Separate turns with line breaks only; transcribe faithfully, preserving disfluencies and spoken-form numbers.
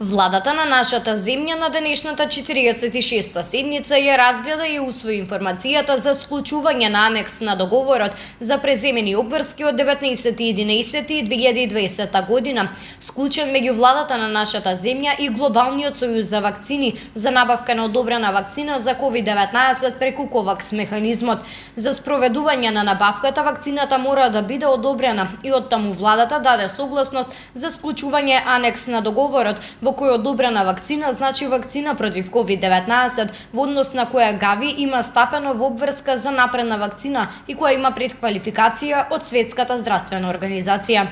Владата на нашата земја на денешната четириесет и шеста седница ја разгледа и усвои информацијата за склучување на анекс на договорот за преземени обврски од деветнаесети единаесети две илјади и дваесета година, склучен меѓу владата на нашата земја и Глобалниот сојуз за вакцини за набавка на одобрена вакцина за ковид деветнаесет преку ковакс механизмот. За спроведување на набавката вакцината мора да биде одобрена и оттаму владата даде согласност за склучување анекс на договорот во кој одобрена вакцина значи вакцина против ковид деветнаесет, во однос на која Гави има стапено во обврска за напредна вакцина и која има предквалификација од Светската здравствена организација.